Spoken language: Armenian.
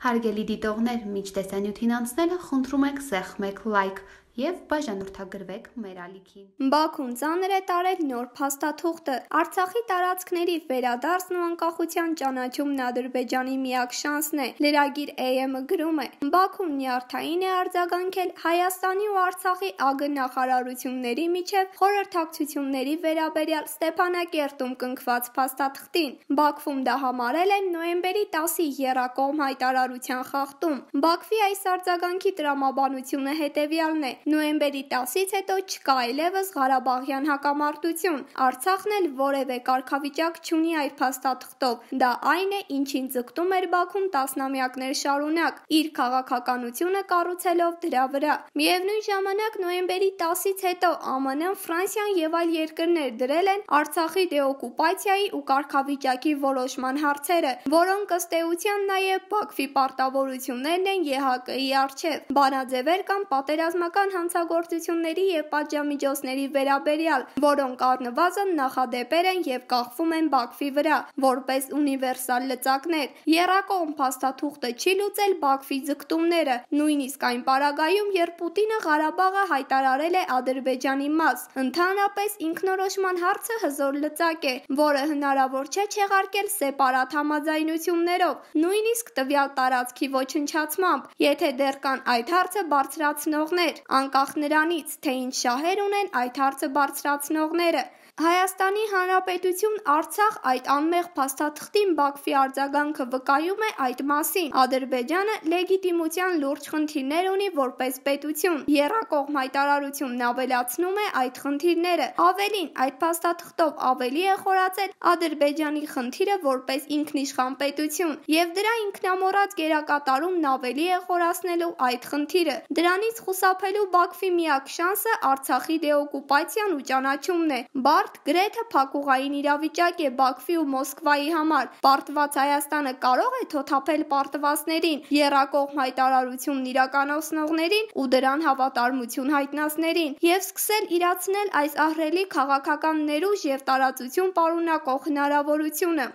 Հարգելի դիտողներ, մինչ տեսանյութին անցնելը խնդրում ենք սեղմեք լայք և բաժանորդագրվեք մեր ալիքին։ Բաքուն ծանր է տարել նոր փաստաթուղթը։ Արցախի տարածքների վերադարձն ու անկախության ճանաչումն Ադրբեջանի միակ շանսն է։ Լրագիր AM-ը գրում է. Բաքուն նյարդային է արձագանքել Հայաստանի ու Արցախի ԱԳ նախարարությունների միջև խորհրդակցությունների վերաբերյալ Ստեփանակերտում կնքված փաստաթղթին։ Բաքվում դա համարել են նոյեմբերի 10-ի եռակողմ հայտարարության խախտում։ Բաքվի այս արձագանքի տրամաբանությունը հետևյալն է. Նոյեմբերի 10-ից հետո չկա այլևս Ղարաբաղյան հակամարտություն։ Արցախն էլ որևէ կարգավիճակ չունի այդ փաստաթղթով։ Դա այն է, ինչին ձգտում էր Բաքուն տասնամյակներ շարունակ, իր քաղաքականությունը կառուցելով դրա վրա։ Միևնույն ժամանակ նոյեմբերի 10-ից հետո ԱՄՆ-ն, Ֆրանսիան եւ այլ երկրներ դրել են Արցախի դեօկուպացիայի ու կարգավիճակի որոշման հարցերը, որոնք ըստ էության նաեւ Բաքվի պարտավորություններն են ԵՀԿ-ի առջեւ։ Բանաձևեր կան պատերազմական հանցագործությունների եւ պատժամիջոցների վերաբերյալ, որոնք առնվազն նախադեպեր են եւ կախվում են Բաքվի վրա, որպես ունիվերսալ լծակներ։ Եռակողմ փաստաթուղթը չի լուծել Բաքվի ձգտումները, նույնիսկ այն պարագայում, երբ Պուտինը Ղարաբաղը հայտարարել է Ադրբեջանի մաս։ Ընդհանրապես ինքնորոշման հարցը հզոր լծակ է, որը հնարավոր չէ չեղարկել սեպարատ համաձայնություններով, նույնիսկ տվյալ տարածքի ոչնչացմամբ, եթե դեռ կան այդ հարցը բարձրացնողներ, անկախ նրանից, թե ինչ շահեր ունեն այդ հարցը բարձրացնողները։ Հայաստանի Հանրապետություն Արցախ այդ անմեղ փաստաթղթին Բաքվի արձագանքը վկայում է այդ մասին։ Ադրբեջանը լեգիտիմության լուրջ խնդիրներ ունի որպես պետություն։ Եռակողմ հայտարարությունն ավելացնում է այդ խնդիրները։ Ավելին, այդ փաստաթղթով ավելի է խորացել Ադրբեջանի խնդիրը որպես ինքնիշխան պետություն, եւ դրա ինքնամոռաց գերակատարումն ավելի է խորացնելու այդ խնդիրը։ Դրանից խուսափելու Բաքվի միակ շանսը Արցախի դեօկուպացիան ու ճանաչումն է։ Բարդ, գրեթե փակուղային իրավիճակ է Բաքվի ու Մոսկվայի համար։ Պարտված Հայաստանը կարող է թոթափել պարտվածներին, եռակողմ հայտարարությունն իրականացնողներին ու դրան հավատարմություն հայտնածներին եւ սկսել իրացնել այս ահռելի քաղաքական ներուժ եւ տարածություն պարունակող հնարավորությունը։